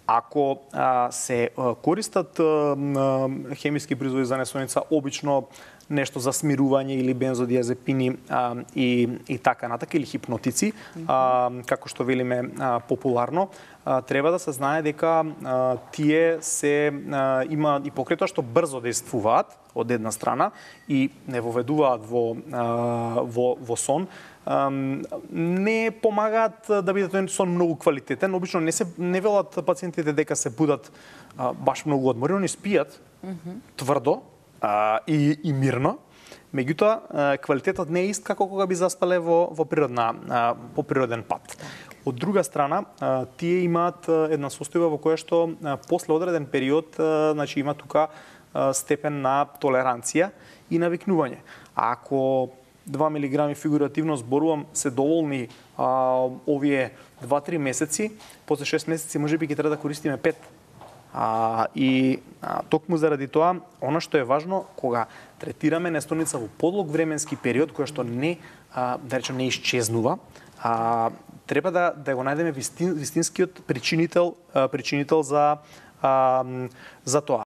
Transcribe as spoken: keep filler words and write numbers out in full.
Ако а, се а, користат а, хемиски производи за несоница, обично нешто за смирување или бензодиазепини а, и, и така натака, или хипнотици, а, како што велиме а, популарно, а, треба да се знае дека а, тие се а, има и покрај тоа што брзо действуваат од една страна и не воведуваат во, а, во, во сон, а, не помагаат да биде тој сон многу квалитетен. Обично не се не велат пациентите дека се будат а, баш многу одморени, они спијат тврдо, А, и, и мирно, меѓутоа квалитетот не е ист како кога би заспале во, во природна, а, по природен пат. Од друга страна, а, тие имаат една состојба во која што а, после одреден период, а, значи има тука а, степен на толеранција и навикнување. А ако два милиграми фигуративно зборувам се доволни а, овие два-три месеци, после шест месеци можеби ќе треба да користиме пет. А, и а, токму заради тоа, она што е важно, кога третираме нестоница во подлог временски период, која што не, а, да речем, не исчезнува, а, треба да, да го најдеме вистин, вистинскиот причинител, а, причинител за, а, за тоа.